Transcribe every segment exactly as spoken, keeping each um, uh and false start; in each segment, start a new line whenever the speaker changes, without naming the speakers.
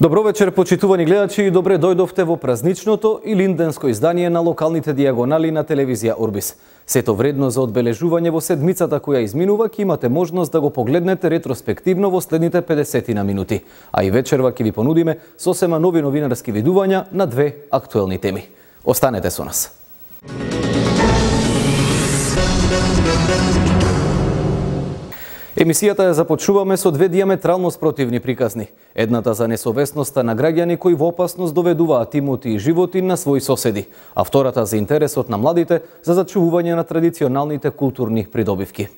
Добро вечер, почитувани гледачи, и добре дојдовте во празничното и линденско издание на локалните дијагонали на телевизија Орбис. Сето вредно за одбележување во седмицата која изминува, ќе имате можност да го погледнете ретроспективно во следните педесет на минути. А и вечерва ќе ви понудиме сосема нови новинарски видувања на две актуелни теми. Останете со нас. Емисијата ја започнуваме со две диаметрално спротивни приказни. Едната за несовесноста на граѓани кои во опасност доведуваат имоти и животи на своји соседи, а втората за интересот на младите за зачувување на традиционалните културни придобивки.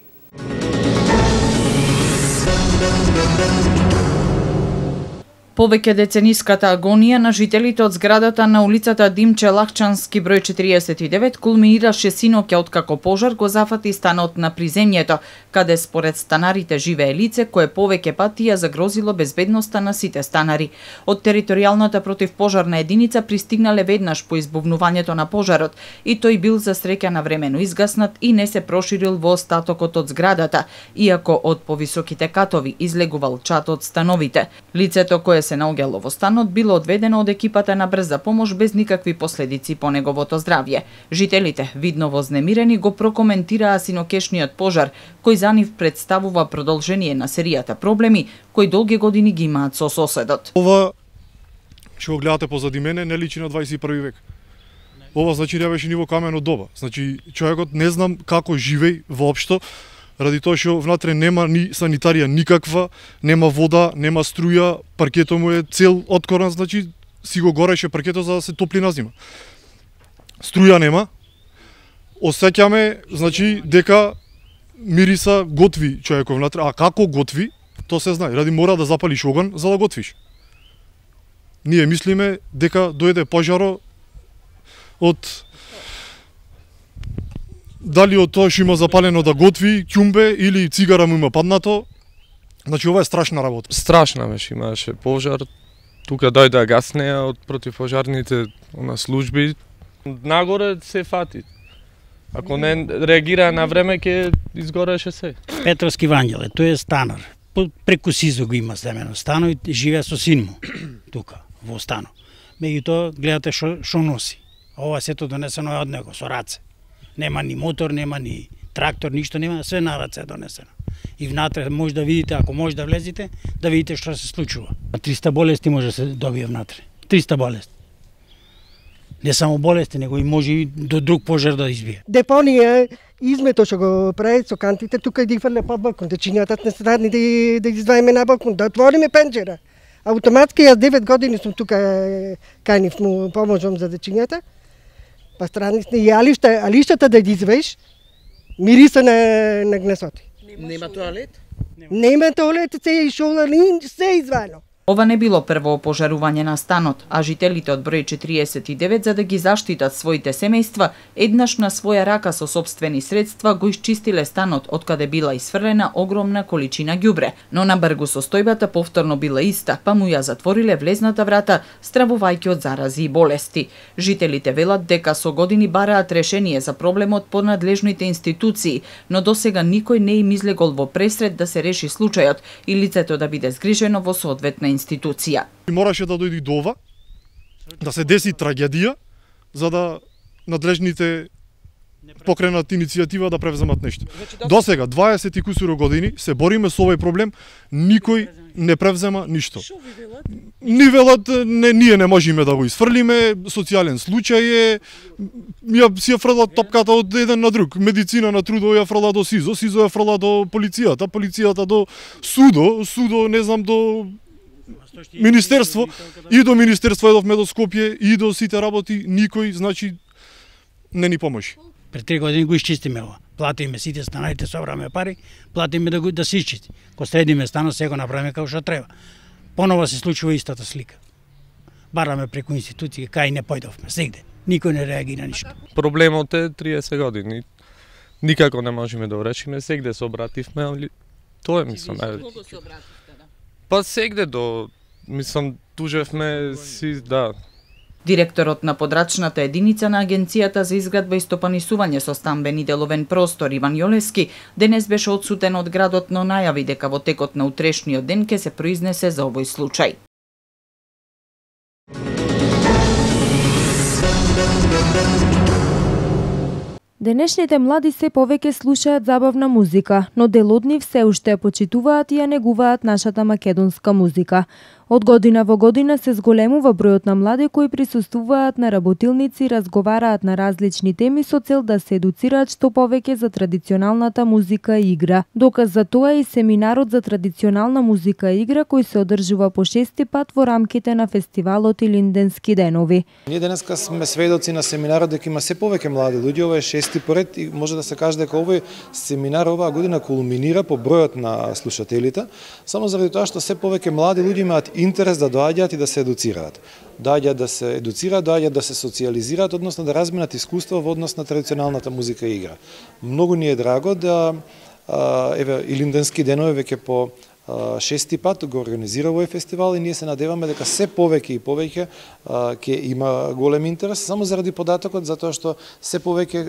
Повеќе децениската агонија на жителите од зградата на улицата Димче Лахчански број четириесет и девет кулминираше синоќа откако пожар го зафати станот на приземјето, каде според станарите живее лице кое повеќе пати ја загрозило безбедноста на сите станари. Од територијалната противпожарна единица пристигнале веднаш по избувнувањето на пожарот и тој бил за среќа навремено изгаснат и не се проширил во остатокот од зградата, иако од повисоките катови излегувал чад од становите. Лицето кое се наоѓало во станот било одведено од екипата на брза помош без никакви последици по неговото здравје. Жителите, видно вознемирени, го прокоментираа синокешниот пожар, кој за нив представува продолжение на серијата проблеми кои долги години ги имаат со соседот.
Ова што го гледате позади мене не личи на дваесет и први век. Ова значи не беше ниво камено доба. Значи човекот не знам како живеј воопшто, ради тоа што внатре нема ни санитарија никаква, нема вода, нема струја, паркето му е цел откоран, значи си го гореше паркето за да се топли на зима. Струја нема. Осеќаме, значи, дека мириса готви човекот внатре, а како готви, тоа се знае, ради мора да запалиш оган за да готвиш. Ние мислиме дека дојде пожаро од дали од тоа што има запалено да готви, ќумбе или цигара му има паднато. Значи ова е страшна работа.
Страшна беше, имаше пожар. Тука дојде гаснеа од противпожарните на служби. Нагоре се фати. Ако не реагира на време, ќе изгореше се.
Петровски Вангеле, тој е станар. Преку Сизо го има семено стано и живее со син му тука во стано. Меѓутоа гледате што што носи. Ова сето донесено е од него со раце. Нема ни мотор, нема ни трактор, ништо нема, све на раце е донесено. И внатре може да видите, ако може да влезете, да видите што се случува. триста болести може да се добие внатре. триста болести. Не само болести, него и може и до друг пожар да избие.
Депонија измето што го прави со кантите, тука и да фрле под балкон, да чинјатат несредни да, да изваиме на балкон, да отвориме пенџера. Автоматски јас девет години сум тука, кајнив му поможам за дечињата. Па странни и алишта, алиштата да ги извеш, мириса на, на гнесоти.
Нема тоалет?
Нема тоалет, се и шола, се извано.
Ова не било прво пожарување на станот, а жителите од број четириесет и девет за да ги заштитат своите семејства, еднаш на своја рака со сопствени средства го исчистиле станот од каде била исфрлена огромна количина ѓубре, но на бргу состојбата повторно била иста, па му ја затвориле влезната врата, стравувајќи од зарази и болести. Жителите велат дека со години бараат решение за проблемот по надлежните институции, но досега никој не им излегол во пресред да се реши случајот и лицето да биде згрижено во соодветна институција.
Мораше да дојде до ова, да се деси трагедија, за да надлежните покренат иницијатива да превземат нешто. До сега, дваесет и кусуро години, се бориме со овој проблем, никој не превзема ништо. Ни велат, не, ние не можеме да го изфрлиме, социјален случај е, ја си ја фрлат топката од еден на друг. Медицина на трудо ја фрла до СИЗО, СИЗО ја фрла до полицијата, полицијата до судо, судо не знам до Министерство, и до Министерство едовме до Скопје, и до сите работи, никој, значи, не ни поможи.
Пред три години го исчистиме ова. Платиме сите станарите, собраме пари, платиме да го да се исчисти. Ко средиме станот, се го направиме како што треба. Понова се случува истата слика. Бараме преку институции, кај не појдовме, сегде. Никој не реагира ништо.
Проблемот е триесет години. Никако не можеме да решиме, сегде се обративме, али тоа е, мислам.
Кого се обративте, да?
Па сегде до, мислам, тужевме си, да.
Директорот на подрачната единица на Агенцијата за изградба и стопанисување со стамбени деловен простор Иван Јолевски денес беше одсутен од градот, но најави дека во текот на утрешниот ден ќе се произнесе за овој случај.
Денешните млади се повеќе слушаат забавна музика, но дел од нив се уште ја почитуваат и ја негуваат нашата македонска музика. Од година во година се зголемува бројот на млади кои присуствуваат на работилници и разговараат на различни теми со цел да се едуцираат што повеќе за традиционалната музика и игра. Доказ за тоа е и семинарот за традиционална музика и игра кој се одржува по шести пат во рамките на фестивалот Илинденски денови.
Ние денеска сме сведоци на семинарот дека има се повеќе млади луѓе, ова е шести поред и може да се каже дека овој семинар оваа година кулминира по бројот на слушателите, само заради тоа што се повеќе млади луѓе имаат интерес да доаѓаат и да се едуцираат. Доаѓаат да се едуцираат, доаѓаат да се социализираат, односно да разменат искуство во однос на традиционалната музика и игра. Многу ни е драго да еве Илинденски денови веќе по шести пат го организира овој фестивал и ние се надеваме дека се повеќе и повеќе ќе има голем интерес, само заради податокот, затоа што се повеќе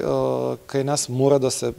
кај нас мора да се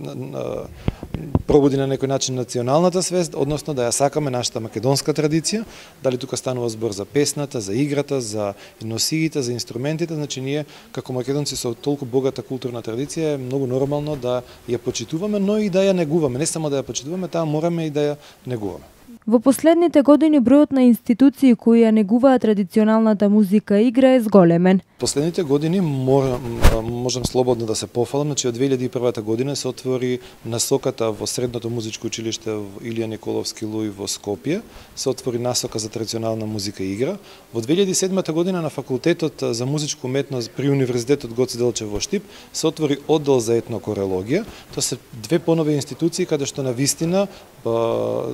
пробуди на некој начин националната свест, односно да ја сакаме нашата македонска традиција, дали тука станува збор за песната, за играта, за носиите, за инструментите, значи ние како македонци со толку богата културна традиција е многу нормално да ја почитуваме, но и да ја негуваме, не само да ја почитуваме, таа мораме и да ја негуваме.
Во последните години бројот на институции кои ја негуваат традиционалната музика и игра е зголемен.
Последните години можам, можам слободно да се пофалам, значи од две илјади и прва година се отвори насоката во Средното музичко училиште Илија Николовски Луј во Скопје, се отвори насока за традиционална музика и игра. Во две илјади и седма година на факултетот за музичко уметност при Универзитетот Гоце Делчев во Штип се отвори оддел за етнокорелогија. Тоа се две понови институции каде што на вистина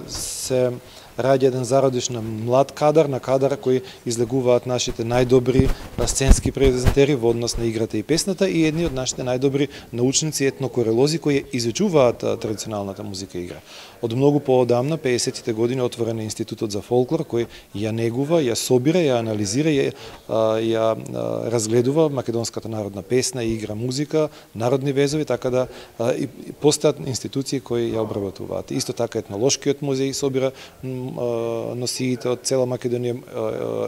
се раѓа еден зародиш на млад кадар, на кадар кои излегуваат нашите најдобри сценски презентери во однос на играта и песната и едни од нашите најдобри научници етнокорелози кои изучуваат традиционалната музика и игра. Од многу поодамна, пеесеттите години, отворен е Институтот за фолклор кој ја негува, ја собира, ја анализира, ја, ја разгледува македонската народна песна и игра музика, народни везови, така да и постојат институции кои ја обработуваат. Исто така етнолошкиот музеј собира носиите од цела Македонија,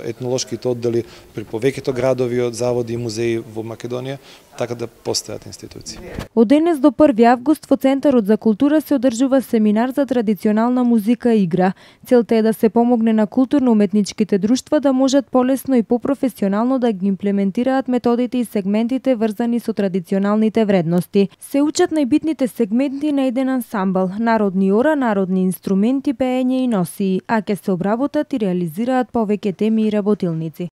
етнолошките оддели при повеќето градови од заводи и музеи во Македонија, така да постојат институции.
Од денес до први август во Центарот за култура се одржува семинар за традиционална музика и игра. Целта е да се помогне на културно-уметничките друштва да можат полесно и попрофесионално да ги имплементираат методите и сегментите врзани со традиционалните вредности. Се учат најбитните сегменти на еден ансамбл, народни ора, народни инструменти, пеење и носии, а ќе се обработат и реализираат повеќе теми и работилници.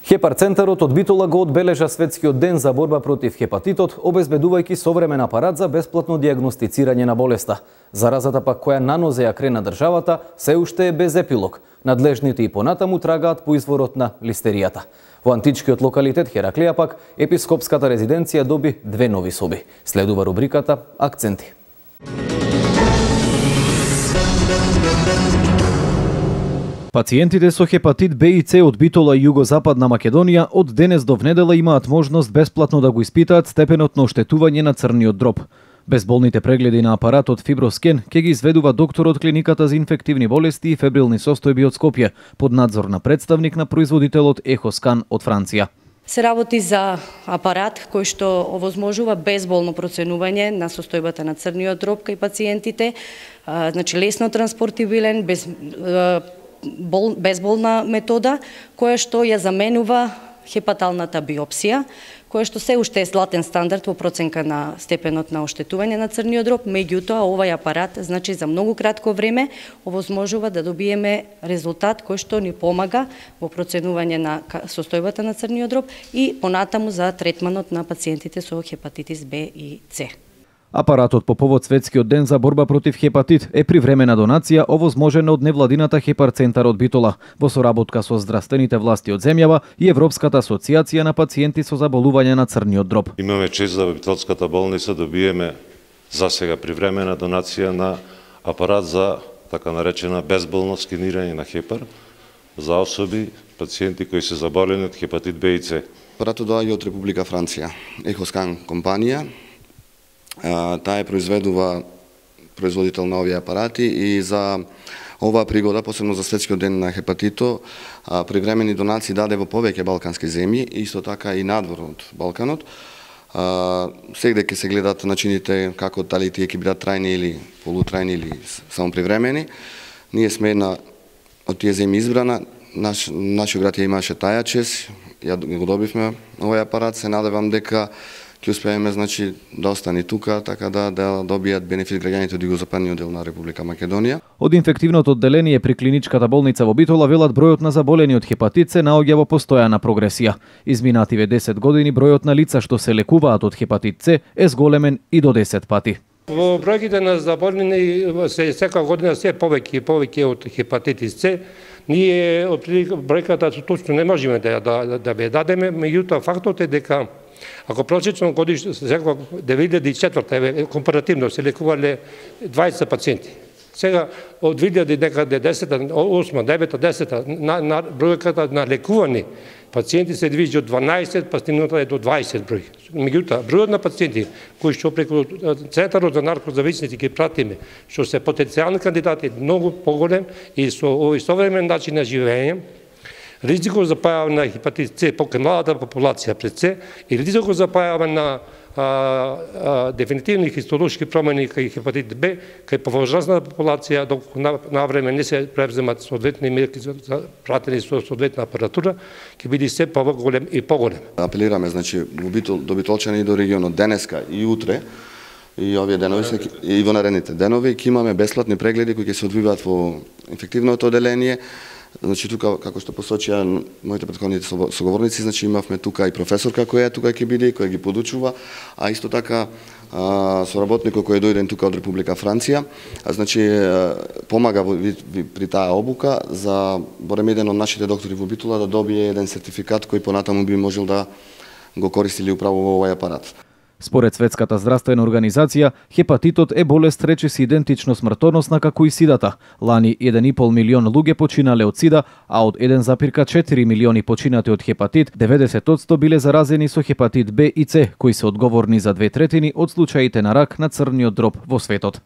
Хепар центарот од Битола го одбележа светскиот ден за борба против хепатитот, обезбедувајќи современ апарат за бесплатно дијагностицирање на болеста. Заразата пак која нанозе ја крена државата се уште е без епилог. Надлежните и понатаму трагаат по изворот на листеријата. Во античкиот локалитет Хераклија пак епископската резиденција доби две нови соби. Следува рубриката Акценти.
Пациентите со хепатит Б и С од Битола и југозападна Македонија од денес до внедела имаат можност бесплатно да го испитаат степенот на оштетување на црниот дроб. Безболните прегледи на апаратот Фиброскен ќе ги изведува доктор од клиниката за инфективни болести и фебрилни состојби од Скопје под надзор на представник на производителот Ехоскан од Франција.
Се работи за апарат кој што овозможува безболно проценување на состојбата на црниот дроб кај пациентите, значи лесно транспортибилен, без Бол, безболна метода, која што ја заменува хепаталната биопсија, која што се уште е златен стандард во проценка на степенот на оштетување на црниот дроб, меѓутоа овај апарат, значи за многу кратко време, овозможува да добиеме резултат кој што ни помага во проценување на состојбата на црниот дроб и понатаму за третманот на пациентите со хепатитис Б и С.
Апаратот по повод светскиот ден за борба против хепатит е привремена донација овозможена од невладината Хепар центар од Битола во соработка со здравствените власти од земјава и Европската асоциација на пациенти со заболување на црниот дроб.
Имаме чест да во Битолската болница добиеме за сега привремена донација на апарат за така наречена безболно скенирање на хепар за особи пациенти кои се заболени од хепатит Б и С.
Апаратот доаѓа од Република Франција, Ехоскан компанија. Таа произведува производител на овие апарати и за Оваа пригода, посебно за Светскиот ден на хепатито, привремени донации даде во повеќе балкански земји, исто така и надвор од Балканот. Сегде ќе се гледат начините како дали тие ќе бидат трајни или полутрајни или само привремени. Ние сме една од тие земји избрана. Наш, нашиот град ја имаше таја чест, ја го добивме овој апарат, се надевам дека ќе успееме, значи, да остане тука, така да да добијат бенефит граѓаните од југозападниот дел на Република Македонија.
Од инфективното одделение при клиничката болница во Битола велат бројот на заболени од хепатит се наоѓа во постојана прогресија. Изминативе десет години бројот на лица што се лекуваат од хепатит С е зголемен и до десет пати.
Во бројките на заболени се секоја година се повеќе и повеќе од хепатитис С. Ние од бројката точно не можеме да да да ве дадеме, меѓутоа фактот е дека ако просечно годишно секоја две илјади и четврта е компаративно се лекувале дваесет пациенти. Сега од две илјади и десета, осма, девета, десета на, на бројката на лекувани пациенти се движи од дванаесет па стигнута е до дваесет број. Меѓутоа, бројот на пациенти кои што преку Центарот за наркозависници ги пратиме, што се потенцијални кандидати, многу поголем и со овој современ начин на живење, ризикот за појава на хепатит С покрај младата популација пред С и ризикот за појава на а, а, дефинитивни хистолошки промени кај хепатит Б, кај повозрастната популација, доколку на, на време не се превземат соодветни мерки за пратени со соодветна апаратура, ќе биде се поголем и поголем.
Апелираме, значи, до битолчани и до регионот денеска и утре, и овие денови се, и во наредните денови ќе имаме бесплатни прегледи кои ќе се одвиваат во инфективното одделение. Значи тука, како што посочија моите претходните соговорници, значи имавме тука и професорка која тука ќе биде, која ги подучува, а исто така а, соработникот кој е дојден тука од Република Франција, а, значи помага во, ви, ви, при таа обука за барем еден од нашите доктори во Битола да добие еден сертификат кој понатаму би можел да го користи или управо во овој апарат.
Според Светската здравствена организација, хепатитот е болест речиси идентично смртоносна како и сидата. Лани еден и пол милион луѓе починале од сида, а од еден запирка четири милиони починати од хепатит, деветдесет одсто биле заразени со хепатит Б и С, кои се одговорни за две третини од случаите на рак на црниот дроб во светот.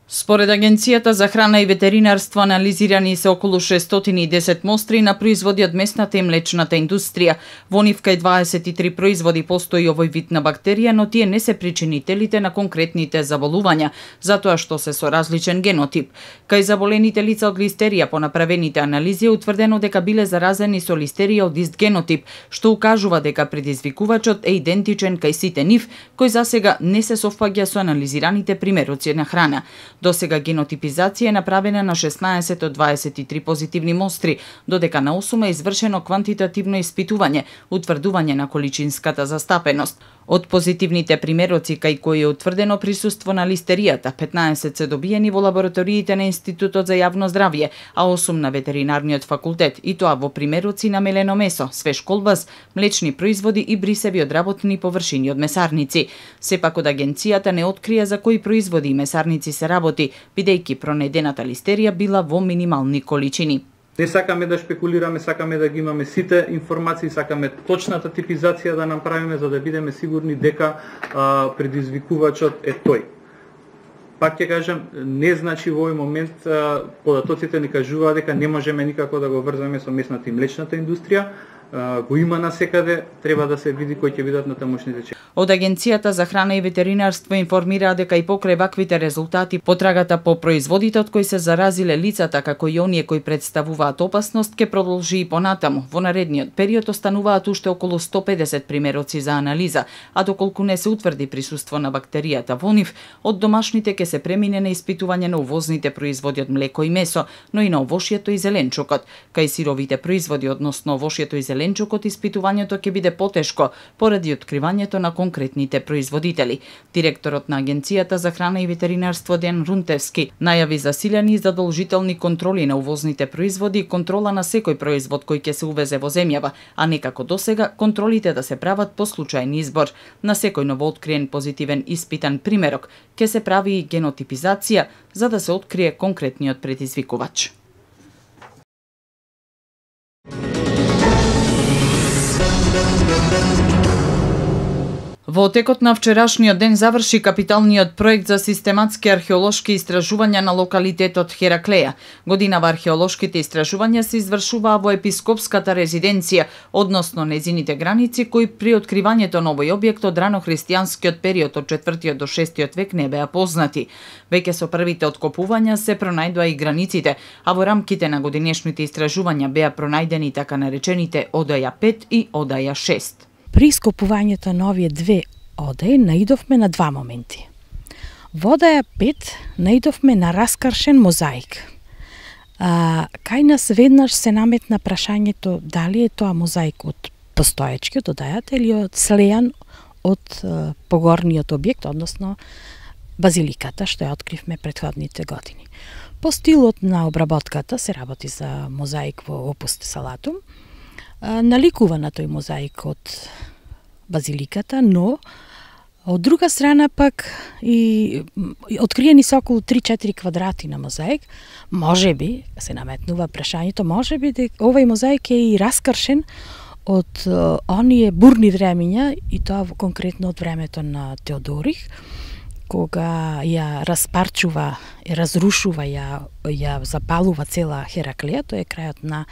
Според Агенцијата за храна и ветеринарство анализирани се околу шестстотини и десет мостри на производи од месната и млечната индустрија. Во нив кај дваесет и три производи постои овој вид на бактерија, но тие не се причинителите на конкретните заболувања, затоа што се со различен генотип. Кај заболените лица од листерија по направените анализи е утврдено дека биле заразени со листерија од ист генотип, што укажува дека предизвикувачот е идентичен кај сите нив, кој засега не се совпаѓа со анализираните примероци на храна. До сега генотипизација е направена на шеснаесет од дваесет и три позитивни мостри, додека на осум е извршено квантитативно испитување, утврдување на количинската застапеност. Од позитивните примероци кај кои е утврдено присуство на листеријата, петнаесет се добиени во лабораториите на Институтот за јавно здравје, а осум на ветеринарниот факултет, и тоа во примероци на мелено месо, свеж колбас, млечни производи и брисеви од работни површини од месарници. Сепак од агенцијата не открија за кои производи и месарници се работи, бидејќи пронедената листерија била во минимални количини.
Не сакаме да шпекулираме, сакаме да ги имаме сите информации, сакаме точната типизација да направиме за да бидеме сигурни дека а, предизвикувачот е тој. Пак ќе кажам, не значи во овој момент а, податоците ни кажуваат дека не можеме никако да го врзаме со месната и млечната индустрија, а, го има насекаде, треба да се види кои ќе бидат натамошните чекори.
Од Агенцијата за храна и ветеринарство информираа дека и покрај ваквите резултати потрагата по производите од кои се заразиле лицата, како и оние кои представуваат опасност, ќе продолжи и понатаму. Во наредниот период остануваат уште околу сто педесет примероци за анализа, а доколку не се утврди присуство на бактеријата во нив, од домашните ќе се премине на испитување на увозните производи од млеко и месо, но и на овошјето и зеленчукот. Кај сировите производи, односно овошјето и зеленчукот, испитувањето ќе биде потешко поради откривањето на конкретните производители. Директорот на Агенцијата за храна и ветеринарство Ден Рунтевски најави засилени и задолжителни контроли на увозните производи и контрола на секој производ кој ќе се увезе во земјава, а не како досега контролите да се прават по случајен избор. На секој новооткриен позитивен испитан примерок ќе се прави и генотипизација за да се открие конкретниот предизвикувач. Во текот на вчерашниот ден заврши капиталниот проект за систематски археолошки истражувања на локалитетот Хераклеја. Годинава археолошките истражувања се извршуваа во епископската резиденција, односно незините граници, кои при откривањето на овој објект од рано-христијанскиот период од четвртиот до шестиот век не беа познати. Веќе со првите откопувања се пронајдоа и границите, а во рамките на годинешните истражувања беа пронајдени така наречените Одаја пет и Одаја шест.
При ископувањето на овие две одаи наидовме на два моменти. Во Одаја пет наидовме на раскршен мозаик. А, кај нас веднаш се наметна прашањето дали е тоа мозаик од постоечкиот одајата или од слејан од а, погорниот објект, односно базиликата, што ја откривме претходните години. По стилот на обработката се работи за мозаик во опус Салатум. Наликува на тој мозаик од базиликата, но од друга страна пак и откриени се околу три-четири квадрати на мозаик. Може би, се наметнува прашањето, може би дека овој мозаик е и раскршен од оние бурни времења, и тоа конкретно од времето на Теодорих, кога ја распарчува, ја разрушува, ја, ја запалува цела Хераклеја, тоа е крајот на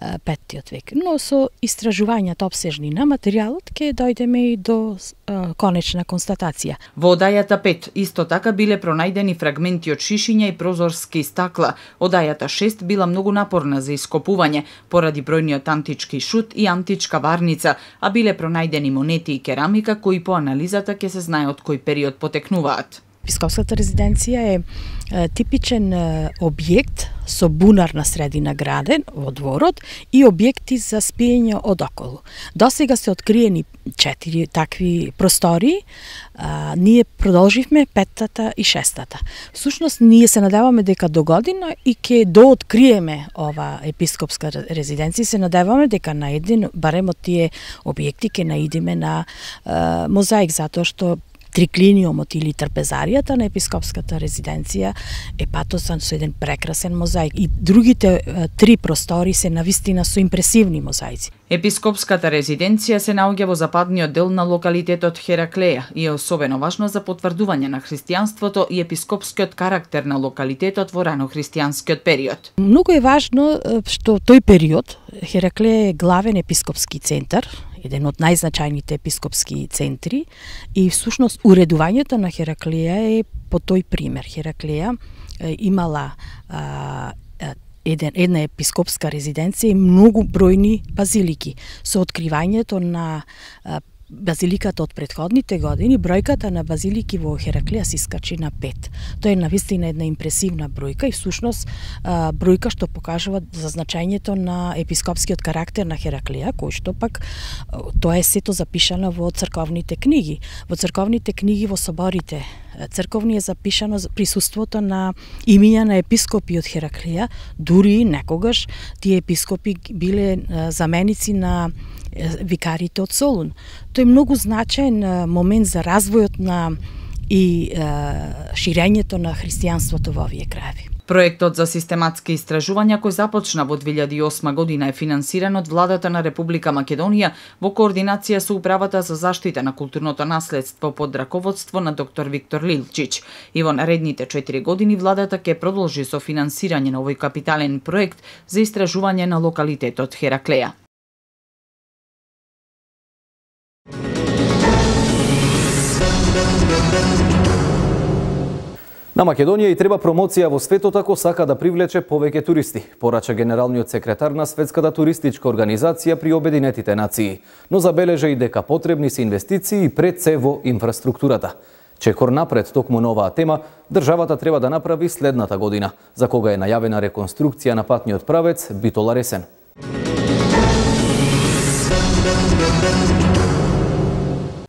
петтиот век. Но со истражувањата обсежни на материјалот ќе дојдеме и до е, конечна констатација.
Во Одајата пет исто така биле пронајдени фрагменти од шишиња и прозорски стакла. Одајата шест била многу напорна за ископување поради бројниот антички шут и античка варница, а биле пронајдени монети и керамика кои по анализата ќе се знае од кој период потекнуваат.
Епископската резиденција е, е типичен е, објект со бунарна средина граден во дворот и објекти за спиење од околу. Досега се откриени четири такви простори, а, ние продолживме петтата и шестата. Всушност, ние се надеваме дека до година и ќе дооткриеме ова епископска резиденција, се надеваме дека на еден, барем од тие објекти, ќе наидиме на а, мозаик, затоа што триклиниумот или трпезаријата на епископската резиденција е патосан со еден прекрасен мозаик и другите е, три простори се навистина со импресивни мозаици.
Епископската резиденција се наоѓа во западниот дел на локалитетот Хераклеја и е особено важно за потврдување на христијанството и епископскиот карактер на локалитетот во рано-христијанскиот период.
Многу е важно што тој период Хераклеја е главен епископски центар, еден од најзначајните епископски центри, и всушност уредувањето на Хераклеја е по тој пример. Хераклеја е, имала а, еден, една епископска резиденција и многу бројни базилики. Со откривањето на а, базиликата од претходните години, бројката на базилики во Хераклеја се искачи на пет. Тоа е навистина една импресивна бројка и всушност бројка што покажува за значењето на епископскиот карактер на Хераклеја, кој што пак тоа е сето запишано во црковните книги. Во црковните книги во соборите црковни е запишано присуството на имиња на епископи од Хераклеја, дури некогаш тие епископи биле заменици на викарите од Солун. Тој е многу значаен момент за развојот на и ширењето на христијанството во овие краеви.
Проектот за систематски истражувања кој започна во две илјади и осма година е финансиран од владата на Република Македонија во координација со Управата за заштита на културното наследство под раководство на доктор Виктор Лилчич. И во наредните четири години владата ќе продолжи со финансирање на овој капитален проект за истражување на локалитетот Хераклеја.
На Македонија и треба промоција во светот ако сака да привлече повеќе туристи, порача генералниот секретар на Светската туристичка организација при Обединетите нации, но забележа и дека потребни се инвестиции пред се во инфраструктурата. Чекор напред токму на оваа тема, државата треба да направи следната година, за кога е најавена реконструкција на патниот правец Битола-Ресен.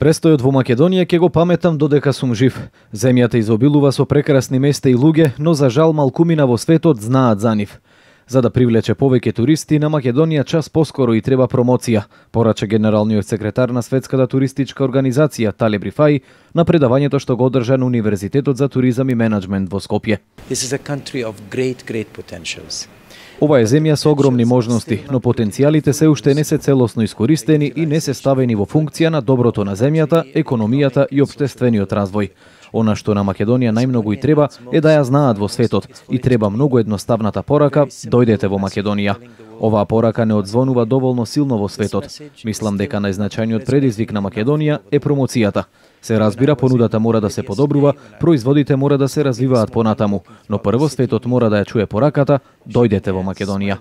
Престојот во Македонија ќе го паметам додека сум жив. Земјата изобилува со прекрасни места и луѓе, но за жал малкумина во светот знаат за нив. За да привлече повеќе туристи на Македонија час поскоро и треба промоција, порача генералниот секретар на Светската туристичка организација Талеб Рифаи на предавањето што го одржа на Универзитетот за туризам и менеджмент во Скопје.
This is a country of great, great potentials.
Ова е земја со огромни можности, но потенцијалите се уште не се целосно искористени и не се ставени во функција на доброто на земјата, економијата и општествениот развој. Она што на Македонија најмногу и треба е да ја знаат во светот и треба многу едноставната порака: дојдете во Македонија. Оваа порака не одзвонува доволно силно во светот. Мислам дека најзначајниот предизвик на Македонија е промоцијата. Се разбира, понудата мора да се подобрува, производите мора да се развиваат понатаму, но прво светот мора да ја чуе пораката: дојдете во Македонија.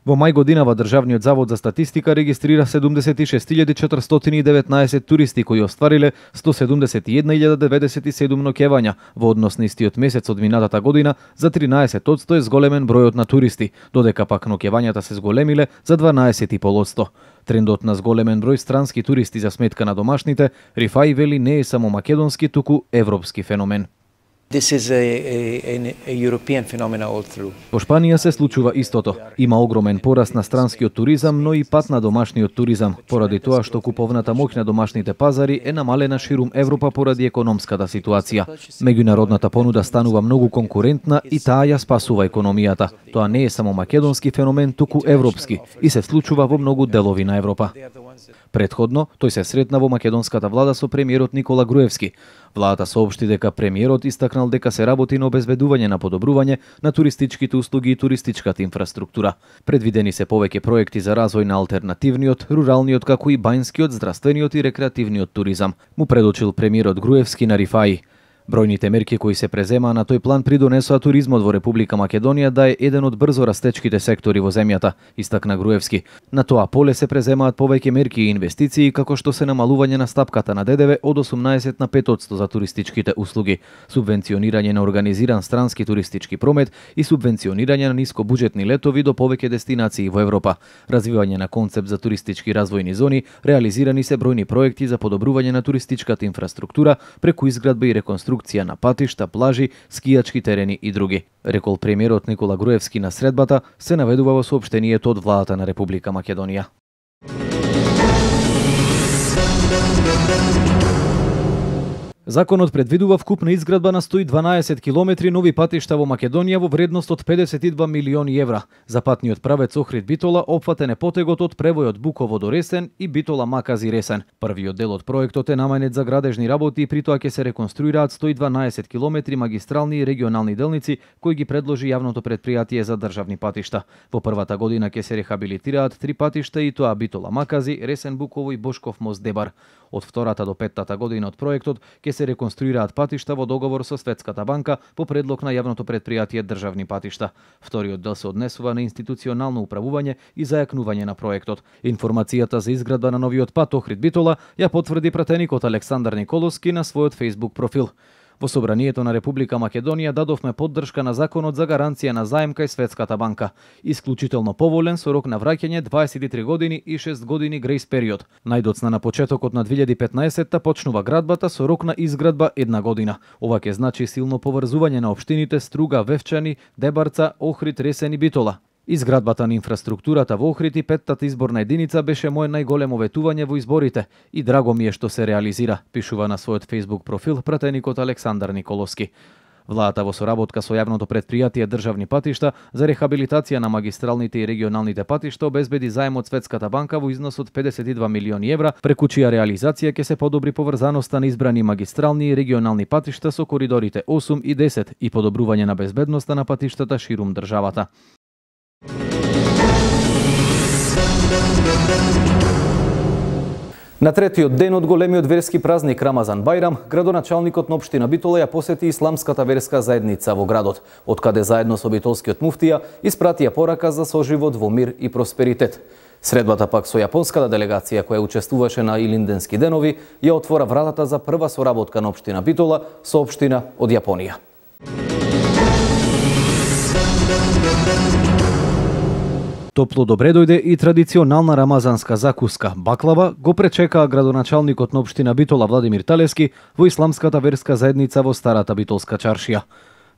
Во мај годинава Државниот завод за статистика регистрира седумдесет и шест илјади четиристотини и деветнаесет туристи кои оствариле сто седумдесет и една илјада деведесет и седум ноќевања во однос на истиот месец од минатата година. За тринаесет одсто е зголемен бројот на туристи, додека пак ноќевањата се зголемиле за дванаесет и пет одсто. Трендот на зголемен број странски туристи за сметка на домашните, Рифаи вели, не е само македонски, туку европски феномен.
This is a, a, a European phenomena all through.
Во Шпанија се случува истото. Има огромен пораст на странскиот туризам, но и пат на домашниот туризам, поради тоа што куповната моќ на домашните пазари е намалена ширум Европа поради економската ситуација. Меѓународната понуда станува многу конкурентна и таа ја спасува економијата. Тоа не е само македонски феномен, туку европски и се случува во многу делови на Европа. Предходно, тој се сретна во македонската влада со премиерот Никола Груевски. Владата соопшти дека премиерот истакнал дека се работи на обезбедување на подобрување на туристичките услуги и туристичката инфраструктура. Предвидени се повеќе проекти за развој на алтернативниот, руралниот, како и бајнскиот, здравствениот и рекреативниот туризам, му предочил премиерот Груевски на Рифаи. Бројните мерки кои се преземаа на тој план придонесоа туризмот во Република Македонија да е еден од брзо растечките сектори во земјата, истакна Груевски. На тоа поле се преземаат повеќе мерки и инвестиции, како што се намалување на стапката на ДДВ од осумнаесет на пет одсто за туристичките услуги, субвенционирање на организиран странски туристички промет и субвенционирање на нискобуџетни летови до повеќе дестинации во Европа, развивање на концепт за туристички развојни зони, реализирани се бројни проекти за подобрување на туристичката инфраструктура преку изградба и реконструкција на патишта, плажи, скијачки терени и други. Рекол премиерот Никола Груевски на средбата, се наведува во соопштението од владата на Република Македонија. Законот предвидува вкупна изградба на сто и дванаесет километри нови патишта во Македонија во вредност од педесет и два милиони евра. За патниот правец Охрид Битола опфатен е потегот од превојот Буково до Ресен и Битола Макази Ресен. Првиот дел од проектот е наменет за градежни работи и при тоа ќе се реконструираат сто и дванаесет километри магистрални и регионални делници кои ги предложи јавното претпријатие за државни патишта. Во првата година ќе се рехабилитираат три патишта и тоа Битола Макази, Ресен Буково и Бошков мост Дебар. Од втората до петтата година од проектот ќе се реконструираат патишта во договор со Светската банка по предлог на јавното претпријатие државни патишта. Вториот дел се однесува на институционално управување и зајакнување на проектот. Информацијата за изградба на новиот пат Охрид Битола ја потврди пратеникот Александар Николовски на својот Facebook профил. Во Собранието на Република Македонија дадовме поддршка на законот за гаранција на заем кај Светската банка. Исклучително поволен со рок на враќање дваесет и три години и шест години грејс период. Најдоцна на почетокот на две илјади и петнаесетта почнува градбата со рок на изградба една година. Ова ќе значи силно поврзување на општините Струга, Вевчани, Дебарца, Охрид, Ресен и Битола. Изградбата на инфраструктурата во Охрид и петтата изборна единица беше моје најголемо ветување во изборите и драго ми е што се реализира, пишува на својот Facebook профил пратеникот Александар Николовски. Владата во соработка со јавното претпријатие државни патишта за рехабилитација на магистралните и регионалните патишта обезбеди заем од Светската банка во износ од педесет и два милиони евра, преку чија реализација ќе се подобри поврзаноста на избрани магистрални и регионални патишта со коридорите осум и десет и подобрување на безбедноста на патиштата ширум државата.
На третиот ден од големиот верски празник Рамазан Бајрам, градоначалникот на општина Битола ја посети исламската верска заедница во градот, од каде заедно со битолскиот муфтија испратија порака за соживот во мир и просперитет. Средбата пак со јапонската делегација која учествуваше на Илинденски денови ја отвора вратата за прва соработка на општина Битола со општина од Јапонија.
Топло добре дојде и традиционална рамазанска закуска баклава го пречекаа градоначалникот на општина Битола Владимир Талески во исламската верска заедница во старата битолска чаршија.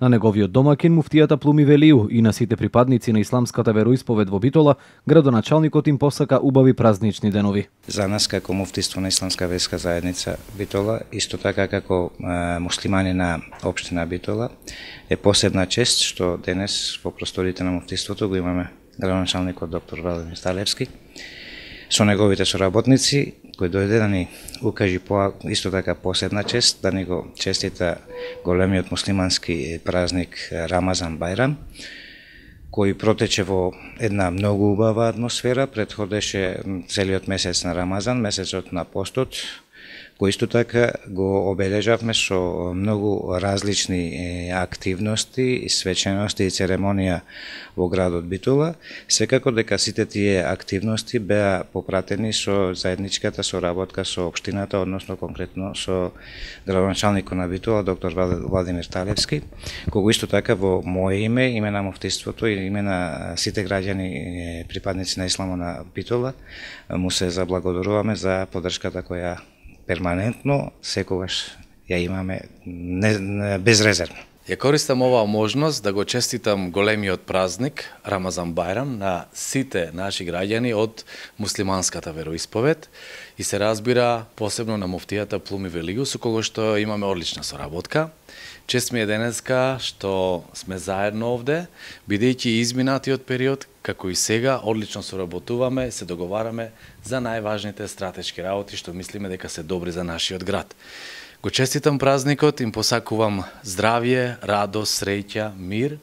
На неговиот домакин муфтијата Плуми Велију и на сите припадници на исламската вероисповед во Битола, градоначалникот им посака убави празнични денови.
За нас како муфтиство на Исламска верска заедница Битола, исто така како е, муслимани на општина Битола, е посебна чест што денес во просториите на муфтиството го имаме градоначалникот доктор Владимир Талевски со неговите соработници, кој дојде да ни укажи по исто така посебна чест, да ни го честита големиот муслимански празник Рамазан Бајрам, кој протече во една многу убава атмосфера, предходеше целиот месец на Рамазан, месецот на постот, кој исто така го обележавме со многу различни активности, свечености и церемонија во градот Битола. Секако дека сите тие активности беа попратени со заедничката соработка со општината, односно конкретно со градоначалникот на Битола, доктор Владимир Талевски, кога исто така во моје име, име на муфтиството и име на сите граѓани припадници на исламот на Битола, му се заблагодаруваме за поддршката која перманентно секогаш ја имаме не, не, безрезервно.
Ја користам оваа можност да го честитам големиот празник Рамазан Бајрам на сите наши граѓани од муслиманската вероисповед и се разбира посебно на муфтијата Плуми Велију со кого што имаме одлична соработка. Чест ми е денеска што сме заедно овде, бидејќи изминатиот период, како и сега, одлично соработуваме, се договараме за најважните стратешки работи што мислиме дека се добри за нашиот град. Го честитам празникот, им посакувам здравје, радост, среќа, мир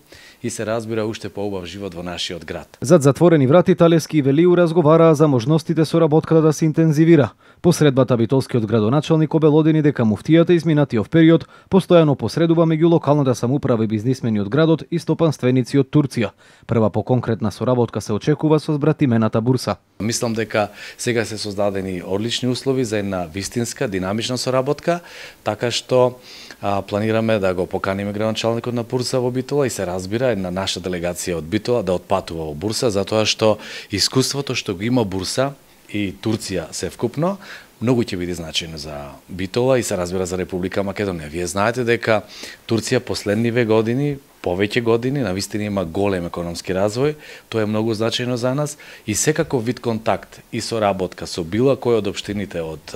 и се разбира уште поубав живот во нашиот град.
Зад затворени врати Талевски и Велију разговараа за можностите соработката да се интензивира. Посредбата битолскиот градоначалник обелодени дека муфтијата изминатиот период постојано посредува меѓу локалната самоуправа и бизнисмени од градот и стопанственици од Турција. Прва по конкретна соработка се очекува со збратимената бурса.
Мислам дека сега се создадени одлични услови за една вистинска, динамична соработка, така што а, планираме да го поканиме градоначалникот на Бурса во Битола и се разбира една наша делегација од Битола да отпатува во Бурса, затоа што искуството што го има Бурса и Турција севкупно многу ќе биде значајно за Битола и се разбира за Република Македонија. Вие знаете дека Турција последниве години, повеќе години, навистина има голем економски развој, тоа е многу значајно за нас и секако вид контакт и соработка со било кој од општините од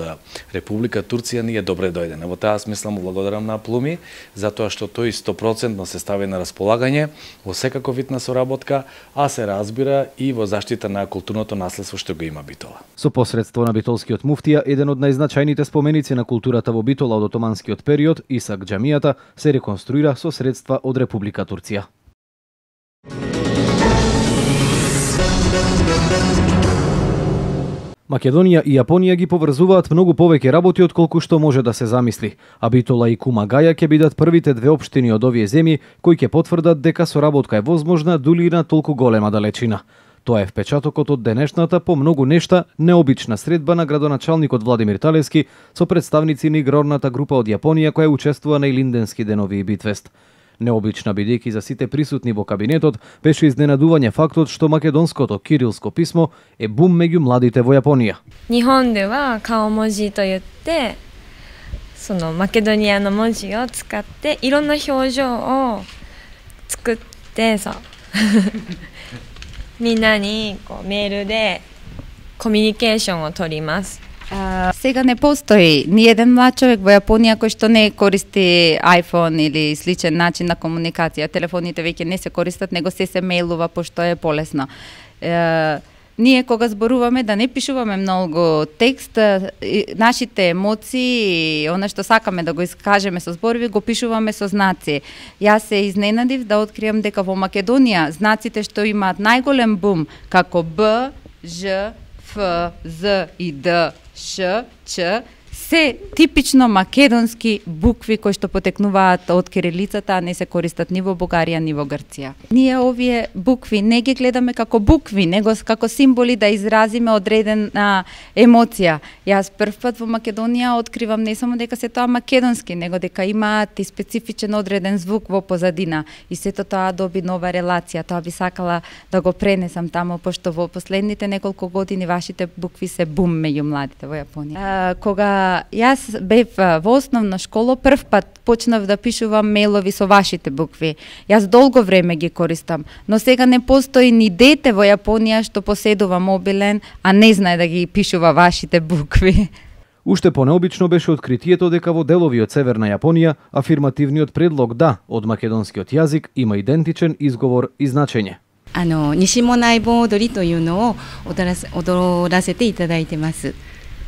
Република Турција ни е добре дојдена. Во таа смисла му благодарам на Плуми, затоа што тој сто проценти се стави на располагање во секако вид на соработка, а се разбира и во заштита на културното наследство што го има Битола.
Со посредство на битолскиот муфтија, еден од најзначајните споменици на културата во Битола од отоманскиот период, Исак џамијата, се реконструира со средства од Република Турција. Македонија и Јапонија ги поврзуваат многу повеќе работи отколку што може да се замисли, а Битола и Кумагаја ќе бидат првите две општини од овие земји кои ќе потврдат дека соработка е возможна дури и на толку голема далечина. Тоа е впечатокот од денешната по многу нешта необична средба на градоначалникот Владимир Талевски со представници на игрорната група од Јапонија која учествува на Илинденски денови и Битфест. Необична бидејќи за сите присутни во кабинетот беше изненадување фактот што македонското кирилско писмо е бум меѓу младите во Јапонија.
日本では顔文字と言ってそのマケドニアの文字を使っていろんな表情を作ってさみんなにこうメールでコミュニケーションを取ります。
А, сега не постои ни еден млад човек во Јапонија кој што не користи iPhone или сличен начин на комуникација. Телефоните веќе не се користат, него се се мејлува пошто е полесно. Е, ние кога зборуваме да не пишуваме многу текст, нашите емоции и она што сакаме да го искажеме со зборови, го пишуваме со знаци. Јас се изненадив да откриам дека во Македонија знаците што имаат најголем бум како Б, Ж, Ф, З и Д, Ш, Ч, се типично македонски букви кои што потекнуваат од кирилицата, а не се користат ни во Бугарија, ни во Грција. Ние овие букви не ги гледаме како букви, него како символи да изразиме одредена емоција. Јас прв пат во Македонија откривам не само дека се тоа македонски, него дека имаат и специфичен одреден звук во позадина и сето тоа доби нова релација. Тоа би сакала да го пренесам таму, пошто во последните неколку години вашите букви се бум меѓу младите во Јапонија. А, кога јас бев во основна школа, прв пат почнав да пишувам мејлови со вашите букви. Јас долго време ги користам, но сега не постои ни дете во Јапонија што поседува мобилен, а не знае да ги пишува вашите букви.
Уште понеобично беше откритието дека во делови од Северна Јапонија афирмативниот предлог да од македонскиот јазик има идентичен изговор и значење.
あの西もない盆踊りというのを踊らせ、踊らせていただいてます。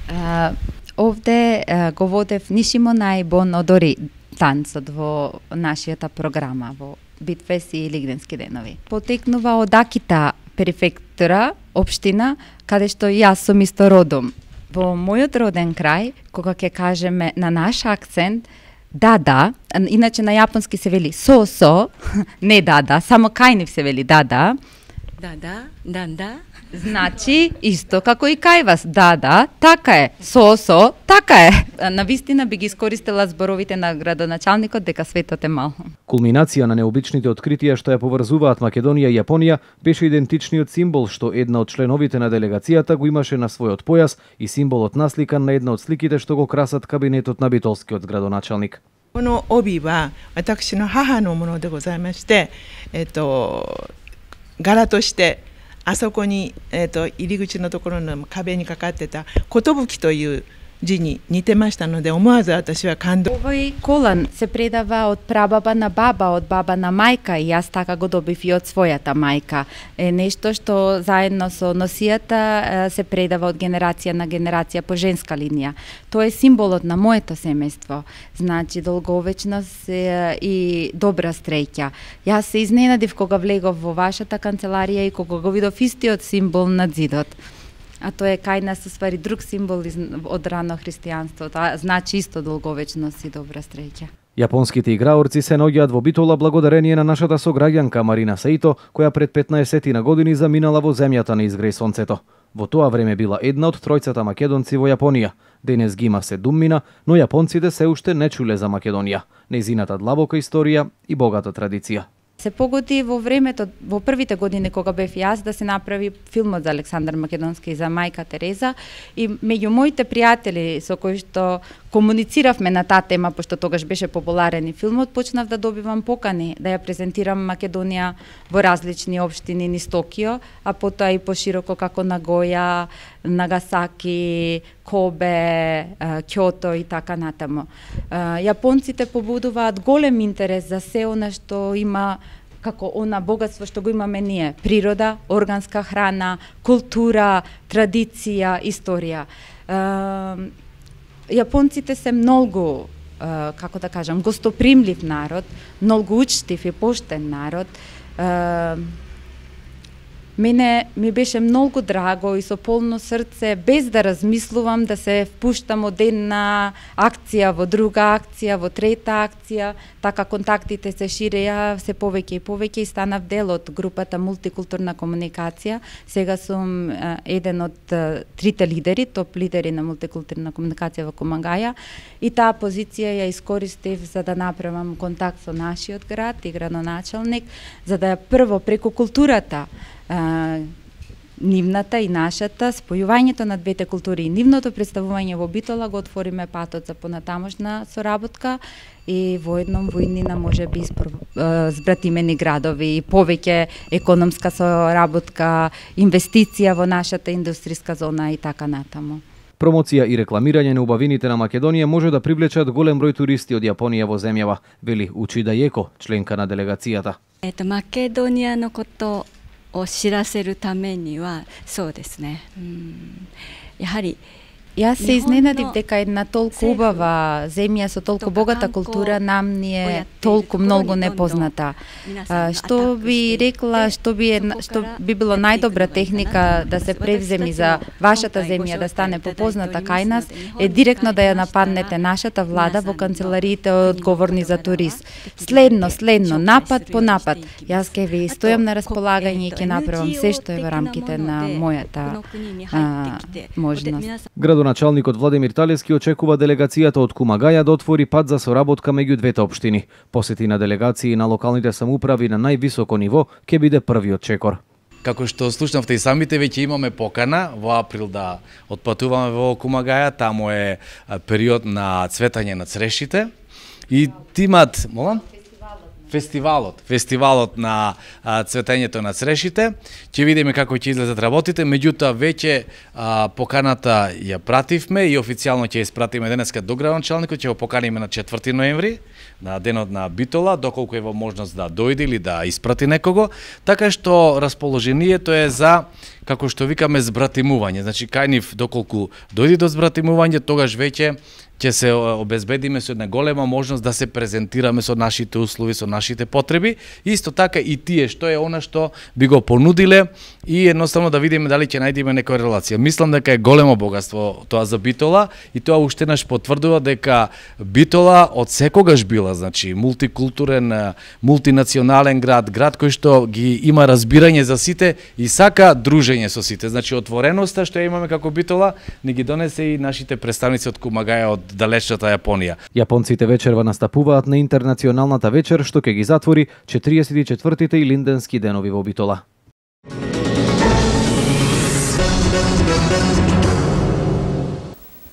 Uh, овде uh, го водев Нишимонај бон одори танцот во нашијата програма во Битфест и Лигденски денови. Потекнува од Акита префектура, општина, каде што јас сум исто родом. Во мојот роден крај, кога ќе кажеме на наш акцент, да, да, иначе на јапонски се вели со-со, не да, да, само кај нив се вели да, да.
Да, да, да, да.
Значи, исто како и кај вас, да, да, така е, со-со, така е. Навистина би ги искористила зборовите на градоначалникот дека светот е мал.
Кулминација на необичните откритија што ја поврзуваат Македонија и Јапонија беше идентичниот символ што една од членовите на делегацијата го имаше на својот појас и символот насликан на една од сликите што го красат кабинетот на битолскиот градоначалник.
この帯は私の母のものでございまして、えっと柄としてあそこにえっと入り口のところの壁にかかってた寿という字に似てましたので思わず私は感動。
Овој колан се предава од прабаба на баба, од баба на мајка и јас така го добив и од својата мајка. Е нешто што заедно со носијата се предава од генерација на генерација по женска линија. Тоа е символот на моето семејство. Значи долговечност и добра среќа. Јас се изненадив кога влегов во вашата канцеларија и кога го видов истиот символ на зидот. А тоа е кај нас уствари друг символ од рано христијанство, тоа значи исто долговечност и добра среќа.
Јапонските играорци се наоѓаат во Битола благодарение на нашата сограѓанка Марина Саито, која пред петнаесет на години заминала во земјата на изгреј сонцето. Во тоа време била една од тројцата македонци во Јапонија. Денес ги има седуммина, но јапонците се уште не чуле за Македонија, нејзината длабока историја и богата традиција.
Се погоди во времето, во првите години кога бев јас, да се направи филмот за Александар Македонски и за мајка Тереза и меѓу моите пријатели со кои што комунициравме на таа тема, пошто тогаш беше популарен и филмот, почнав да добивам покани да ја презентирам Македонија во различни општини низ Токио, а потоа и пошироко како Нагоја, Нагасаки, Кобе, Кјото и така натаму. Јапонците побудуваат голем интерес за се она што има како она богатство што го имаме ние, природа, органска храна, култура, традиција, историја. Јапонците се многу, како да кажам, гостопримлив народ, многу учтив и поштен народ. Мене ми беше многу драго и со полно срце, без да размислувам, да се впуштам од една акција во друга акција, во трета акција, така контактите се ширеја се повеќе и повеќе и станав дел од групата Мултикултурна комуникација. Сега сум еден од трите лидери, топ лидери на мултикултурна комуникација во Комагаја и таа позиција ја искористив за да направам контакт со нашиот град и градоначалник, за да прво преку културата, Uh, нивната и нашата, спојувањето на двете култури и нивното представување во Битола го отвориме патот за понатамошна соработка и воедном во иднина може би збратимени градови и повеќе економска соработка, инвестиција во нашата индустријска зона и така натаму.
Промоција и рекламирање на убавините на Македонија може да привлечат голем број туристи од Јапонија во земјава, вели Учида Јеко, членка на делегацијата.
Ето Македонија но кото を知らせるためにはそうですね。うん、やはり
Јас се изненадив дека една толку убава земја со толку богата култура нам ни е толку многу непозната. Што би рекла, што би што би било најдобра техника да се превземи за вашата земја да стане попозната кај нас е директно да ја нападнете нашата влада во канцелариите одговорни за турист. Следно, следно, напад по напад. Јас ќе ви стојам на располагање и ќе направам се што е во рамките на мојата а, можност.
Градоначалникот Владимир Талевски очекува делегацијата од Кумагаја да отвори пат за соработка меѓу двете општини. Посети на делегации на локалните самоуправи на највисоко ниво ќе биде првиот чекор.
како што слушнавте и самите, веќе имаме покана во април да отпатуваме во Кумагаја, таму е период на цветање на црешите и тимат, молам? Фестивалот, фестивалот на а, цветењето на црешите. Ќе видиме како ќе излезат работите, меѓутоа веќе а, поканата ја пративме и официјално ќе ја испратиме денеска до градоначалникот, ќе го поканиме на четврти ноември, на денот на Битола, доколку е во можност да дојде или да испрати некого, така што расположението е за, како што викаме, збратимување. Значи, кај нив, доколку дојде до збратимување, тогаш веќе ќе се обезбедиме со една голема можност да се презентираме со нашите услови, со нашите потреби. Исто така и тие што е она што би го понудиле и едноставно да видиме дали ќе најдеме некоја релација. Мислам дека е големо богатство тоа за Битола и тоа уште наш потврдува дека Битола од секогаш била, значи, мултикултурен, мултинационален град, град кој што ги има разбирање за сите и сака дружење со сите. Значи, отвореноста што ја имаме како Битола не ги донесе и нашите представници од Кумагаја, од далечната Јапонија.
Јапонците вечерва настапуваат на интернационалната вечер што ќе ги затвори четириесет и четвртите илинденски денови во Битола.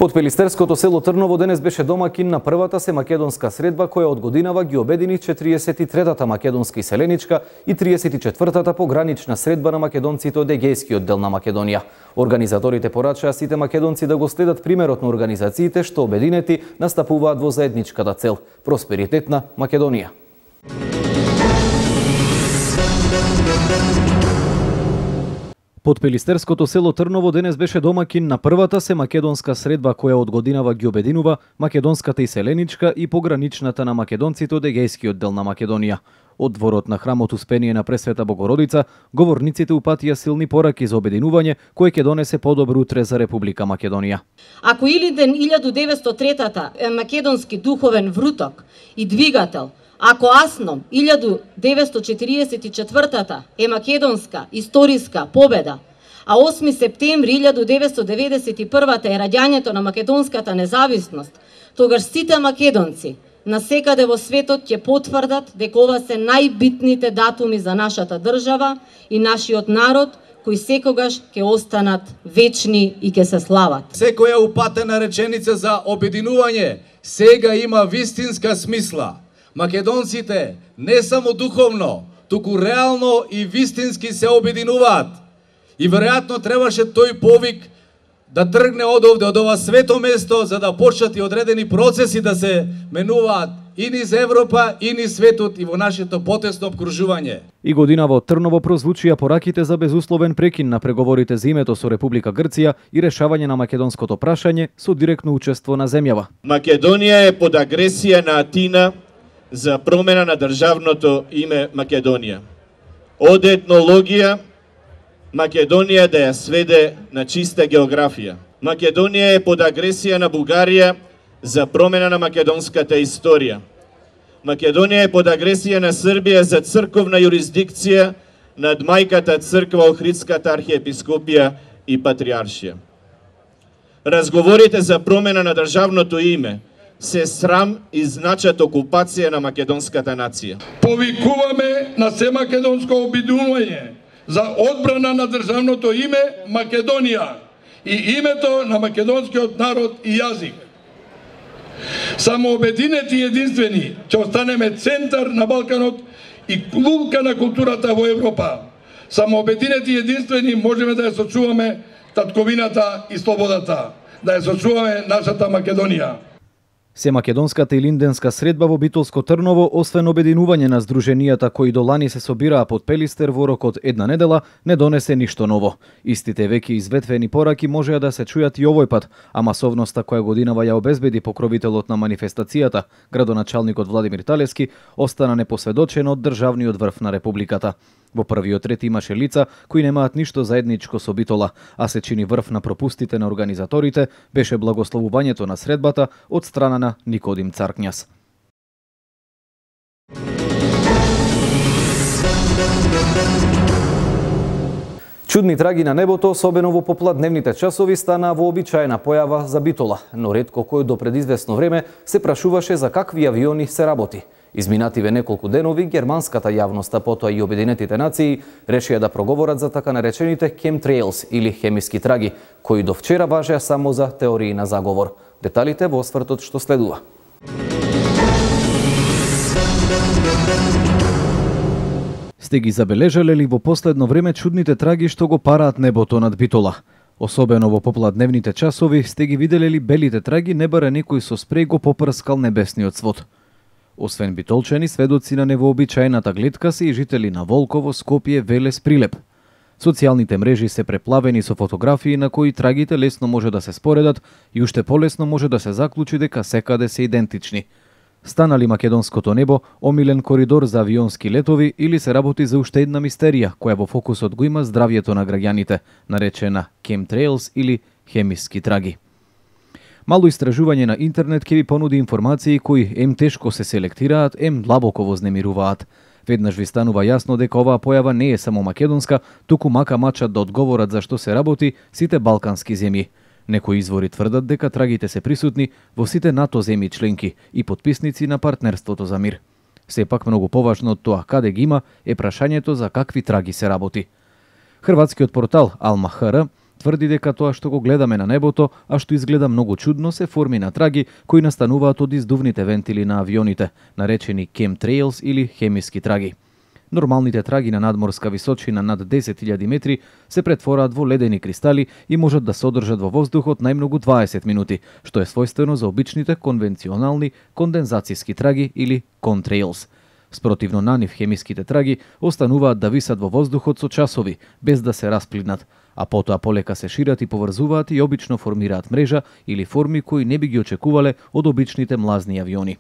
Подпелистерското село Трново денес беше домакин на првата семакедонска средба која од годинава ги обедини четириесет и третата македонска иселеничка и триесет и четвртата погранична средба на македонците од Егејскиот дел на Македонија. Организаторите порачаа сите македонци да го следат примерот на организациите што обединети настапуваат во заедничката цел – просперитетна Македонија. Подпелистерското село Трново денес беше домакин на првата семакедонска средба која од годинава ги обединува македонската иселеничка и пограничната на македонците од Егејскиот дел на Македонија. Од дворот на храмот Успение на Пресвета Богородица, говорниците упатија силни пораки за обединување кој ќе донесе подобро утре за Република Македонија.
Ако Илинден илјаду деветстотини и трета е македонски духовен вруток и двигател, ако Асном илјаду деветстотини четириесет и четвртата е македонска историска победа, а осми септември илјаду деветстотини деветдесет и првата е раѓањето на македонската независност, тогаш сите македонци насекаде во светот ќе потврдат дека ова се најбитните датуми за нашата држава и нашиот народ, кои секогаш ќе останат вечни и ќе се слават.
Секоја упатена реченица за обединување сега има вистинска смисла. Македонците не само духовно, туку реално и вистински се обединуваат. И веројатно требаше тој повик да тргне од овде, од ова свето место, за да почнат и одредени процеси да се менуваат и низ Европа, и низ светот, и во нашето потесно обкружување.
И годинава од Трново прозвучија пораките за безусловен прекин на преговорите за името со Република Грција и решавање на македонското прашање со директно учество на земјава.
Македонија е под агресија на Атина за промена на државното име Македонија. Од етнологија Македонија да ја сведе на чиста географија. Македонија е под агресија на Бугарија за промена на македонската историја. Македонија е под агресија на Србија за црковна юрисдикција над мајката црква Охридската архиепископија и патриаршија. Разговорите за промена на државното име се срам и значат окупација на македонската нација.
Повикуваме на семакедонско обединување за одбрана на државното име Македонија и името на македонскиот народ и јазик. Само обединети и единствени ќе останеме центар на Балканот и лулка на културата во Европа. Само обединети и единствени можеме да ја сочуваме татковината и слободата, да ја сочуваме нашата Македонија.
Семакедонската илинденска средба во Битолско Трново, освен обединување на здруженијата кои до лани се собираа под Пелистер во рокот една недела, не донесе ништо ново. Истите веќе изветвени пораки можеа да се чујат и овој пат, а масовноста која годинава ја обезбеди покровителот на манифестацијата, градоначалникот Владимир Талевски, остана непосведочен од државниот врв на Републиката. Во првиот ред имаше лица кои немаат ништо заедничко со Битола, а се чини врв на пропустите на организаторите беше благословувањето на средбата од страна на Никодим Царкњас. Чудни траги на небото, особено во попладневните часови, стана вообичаена појава за Битола, но ретко кој до пред известно време се прашуваше за какви авиони се работи.
Изминативе неколку денови, германската јавност, а потоа и Обединетите нации, решија да проговорат за така наречените chemtrails или хемиски траги, кои до вчера важеа само за теории на заговор. Деталите во освртот што следува.
Сте ги забележале ли во последно време чудните траги што го параат небото над Битола? Особено во попладневните часови сте ги виделе ли белите траги, не бара некој со спреј го попрскал небесниот свод. Освен битолчани, сведоци на невообичаената гледка се и жители на Волково, Скопје, Велес, Прилеп. Социјалните мрежи се преплавени со фотографии на кои трагите лесно може да се споредат и уште полесно може да се заклучи дека секаде се идентични. Станали македонското небо омилен коридор за авионски летови или се работи за уште една мистерија која во фокусот го има здравјето на граѓаните, наречена chemtrails или хемиски траги. Мало истражување на интернет ќе ви понуди информации кои ем тешко се селектираат, ем длабоко вознемируваат. Веднаш ви станува јасно дека оваа појава не е само македонска, туку мака мачат да одговорат за што се работи сите балкански земји. Некои извори тврдат дека трагите се присутни во сите НАТО земји членки и потписници на партнерството за мир. Сепак многу поважно од тоа каде ги има е прашањето за какви траги се работи. Хрватскиот портал Ал-Махара тврди дека тоа што го гледаме на небото, а што изгледа многу чудно, се форми на траги кои настануваат од издувните вентили на авионите, наречени chemtrails или хемиски траги. Нормалните траги на надморска височина над десет илјади метри се претвораат во ледени кристали и можат да се одржат во воздухот најмногу дваесет минути, што е својствено за обичните конвенционални кондензацијски траги или contrails. Спротивно на нив, хемиските траги остануваат да висат во воздухот со часови, без да се расплиднат, а потоа полека се шират и поврзуваат и обично формираат мрежа или форми кои не би ги очекувале од обичните млазни авиони.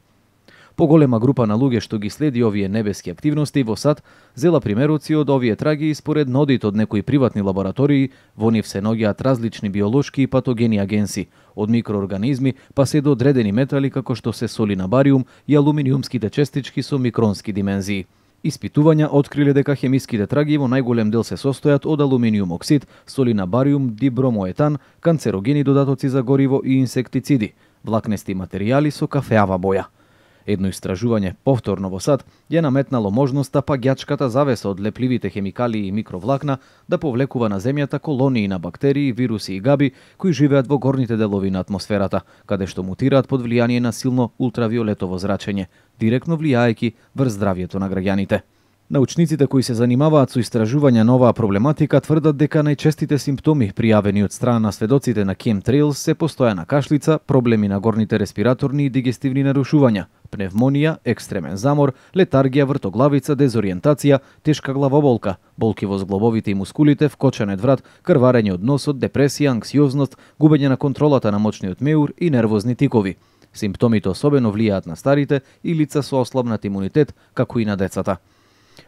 Поголема група на луѓе што ги следи овие небески активности во САД зела примероци од овие траги и според нодит од некои приватни лаборатории, во нив се наоѓаат различни биолошки и патогени агенси, од микроорганизми па се до одредени метали како што се соли на бариум и алуминиумските честички со микронски димензии. Испитувања откриле дека хемиските траги во најголем дел се состојат од алуминиум оксид, соли на бариум, дибромоетан, канцерогени додатоци за гориво и инсектициди, влакнести материјали со кафеава боја. Едно истражување повторно во САД ја наметнало можноста паѓачката завеса од лепливите хемикалии и микровлакна да повлекува на земјата колонии на бактерии, вируси и габи кои живеат во горните делови на атмосферата, каде што мутираат под влијание на силно ултравиолетово зрачење, директно влијаејќи врз здравјето на граѓаните. Научниците кои се занимаваат со истражување на оваа проблематика тврдат дека најчестите симптоми пријавени од страна на сведоците на chemtrails се постојана кашлица, проблеми на горните респираторни и дигестивни нарушувања, пневмонија, екстремен замор, летаргија, вртоглавица, дезориентација, тешка главоболка, болки во зглобовите и мускулите, вкочанет врат, крварење од носот, депресија, анксиозност, губење на контролата на мочниот меур и нервозни тикови. Симптомите особено влијаат на старите и лица со ослабнат имунитет, како и на децата.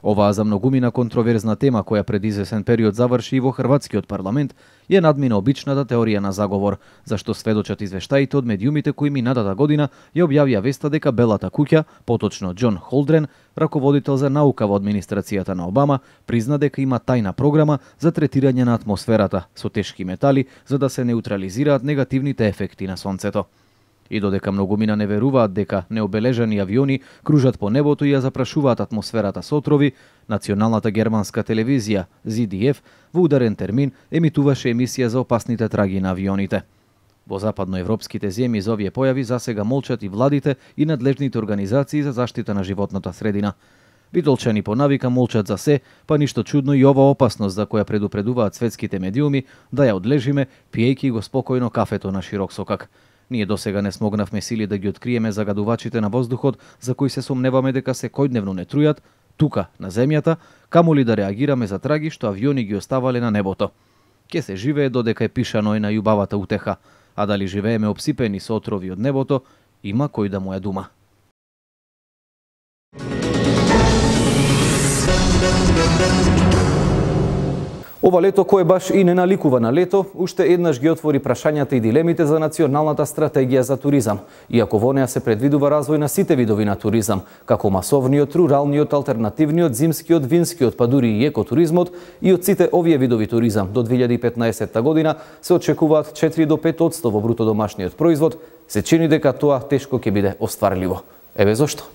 Оваа за многумина контроверзна тема која пред извесен период заврши и во хрватскиот парламент е надмина обичната теорија на заговор, зашто сведочат извештаите од медиумите кои минатата година ја објавија веста дека Белата куќа, поточно Џон Холдрен, раководител за наука во администрацијата на Обама, призна дека има тајна програма за третирање на атмосферата со тешки метали за да се неутрализираат негативните ефекти на сонцето. И додека многумина не веруваат дека необележани авиони кружат по небото и ја запрашуваат атмосферата со отрови, националната германска телевизија Зет Ди Еф во ударен термин емитуваше емисија за опасните траги на авионите. Во западноевропските земји за овие појави засега молчат и владите и надлежните организации за заштита на животната средина. Битолчани по навика молчат за се, па ништо чудно и ова опасност за која предупредуваат светските медиуми да ја одлежиме пиејќи го спокојно кафето на широк сокак. Ние досега не смогнавме сили да ги откриеме загадувачите на воздухот за кои се сомневаме дека секојдневно не трујат тука на земјата, камоли да реагираме за траги што авиони ги оставале на небото. Ке се живее додека е пишано и на љубавата утеха, а дали живееме обсипени со отрови од небото, има кој да му е дума.
Ова лето, кое баш и не наликува на лето, уште еднаш ги отвори прашањата и дилемите за националната стратегија за туризам, иако во неа се предвидува развој на сите видови на туризам, како масовниот, руралниот, алтернативниот, зимскиот, винскиот, па дури и екотуризмот, и од сите овие видови туризам до две илјади и петнаесетта година се очекуваат четири до пет одсто во бруто домашниот производ, се чини дека тоа тешко ќе биде остварливо. Еве зошто.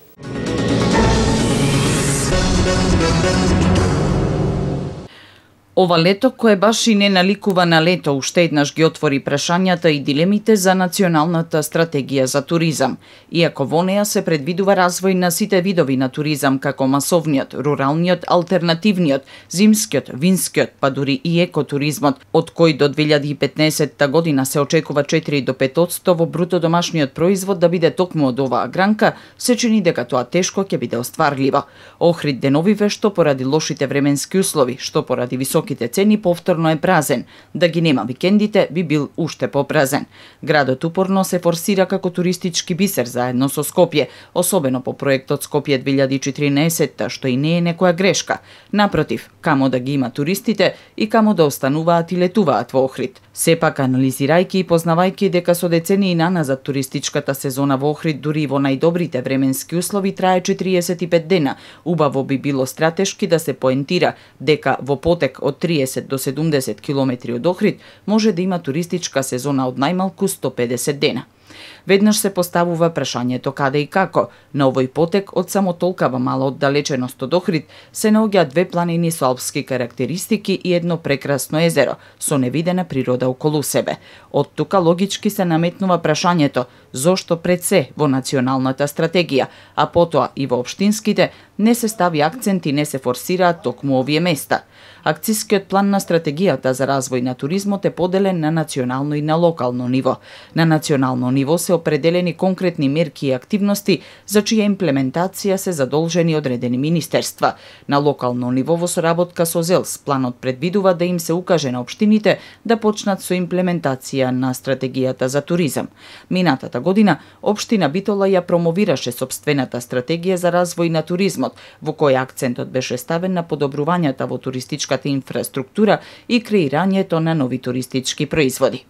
Ова лето, кое баш и не наликува на лето, уште еднаш ги отвори прашањата и дилемите за националната стратегија за туризам. Иако во неа се предвидува развој на сите видови на туризам, како масовниот, руралниот, алтернативниот, зимскиот, винскиот, па дури и екотуризмот, од кој до две илјади и петнаесетта година се очекува четири до пет одсто во бруто домашниот производ да биде токму од оваа гранка, се чини дека тоа тешко ќе биде остварливо. Охрид деновиве што поради лошите временски услови, што поради високи цени повторно е празен. Да ги нема викендите, би бил уште попразен. Градот упорно се форсира како туристички бисер заедно со Скопје, особено по проектот Скопје две илјади и четиринаесетта, што и не е некоја грешка. Напротив, камо да ги има туристите и камо да остануваат и летуваат во Охрид. Сепак, анализирајќи и познавајќи дека со децении наназад туристичката сезона во Охрид дури во најдобрите временски услови трае четириесет и пет дена, убаво би било стратешки да се поентира дека во потек од триесет до седумдесет километри од Охрид може да има туристичка сезона од најмалку сто педесет дена. Веднаш се поставува прашањето каде и како. На овој потек од само толкава мала оддалеченост од Охрид се наоѓаат две планини со алпски карактеристики и едно прекрасно езеро со невидена природа околу себе. Од тука логички се наметнува прашањето зошто пред се во националната стратегија, а потоа и во општинските не се стави акцент и не се форсираат токму овие места. Акцискиот план на стратегијата за развој на туризмот е поделен на национално и на локално ниво. На национално ниво се определени конкретни мерки и активности за чија имплементација се задолжени одредени министерства. На локално ниво во соработка со ЗЕЛС планот предвидува да им се укаже на општините да почнат со имплементација на стратегијата за туризам. Минатата година општина Битола ја промовираше сопствената стратегија за развој на туризмот, во која акцентот беше ставен на подобрувањата во туристичката инфраструктура и креирањето на нови туристички производи.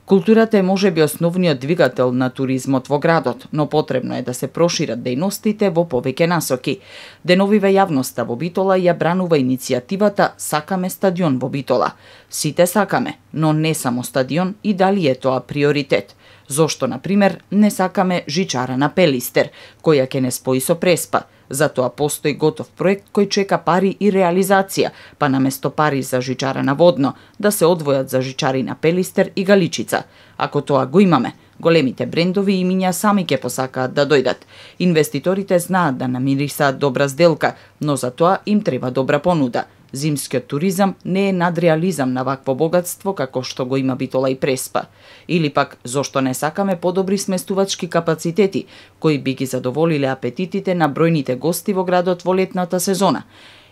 Културата е можеби основниот двигател на туризмот во градот, но потребно е да се прошират дејностите во повеќе насоки. Деновиве јавноста во Битола ја бранува иницијативата Сакаме стадион во Битола. Сите сакаме, но не само стадион и дали е тоа приоритет. Зошто, например, не сакаме жичара на Пелистер, која ќе не спои со Преспа. Затоа постои готов проект кој чека пари и реализација, па наместо пари за жичара на Водно, да се одвојат за жичари на Пелистер и Галичица. Ако тоа го имаме, големите брендови и имиња сами ќе посакаат да дојдат. Инвеститорите знаат да намирисаат добра сделка, но за тоа им треба добра понуда. Зимскиот туризам не е надреализам на вакво богатство како што го има Битола и Преспа. Или пак, зошто не сакаме подобри сместувачки капацитети, кои би ги задоволиле апетитите на бројните гости во градот во летната сезона?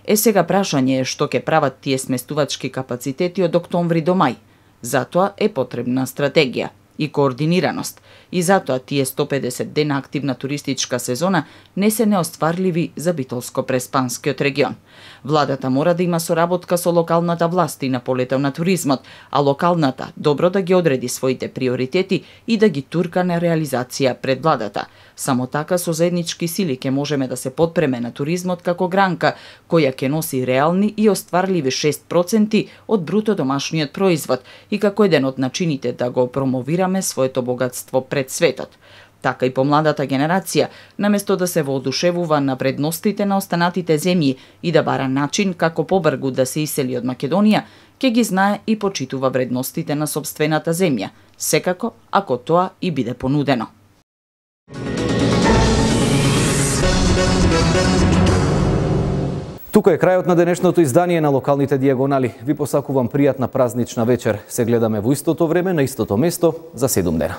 Е, сега прашање е што ќе прават тие сместувачки капацитети од октомври до мај. Затоа е потребна стратегија и координираност. И затоа тие сто педесет дена активна туристичка сезона не се неостварливи за Битолско-Преспанскиот регион. Владата мора да има соработка со локалната власт и на полето на туризмот, а локалната добро да ги одреди своите приоритети и да ги турка на реализација пред владата. Само така со заеднички сили ќе можеме да се подпреме на туризмот како гранка, која ќе носи реални и остварливи шест проценти од бруто домашниот производ и како еден од начините да го промовираме своето богатство пред светот. Така и помладата генерација, наместо да се воодушевува на вредностите на останатите земји и да бара начин како побргу да се исели од Македонија, ќе ги знае и почитува вредностите на сопствената земја, секако ако тоа и биде понудено.
Тука е крајот на денешното издание на Локалните дијагонали. Ви посакувам пријатна празнична вечер. Се гледаме во истото време, на истото место, за седум дена.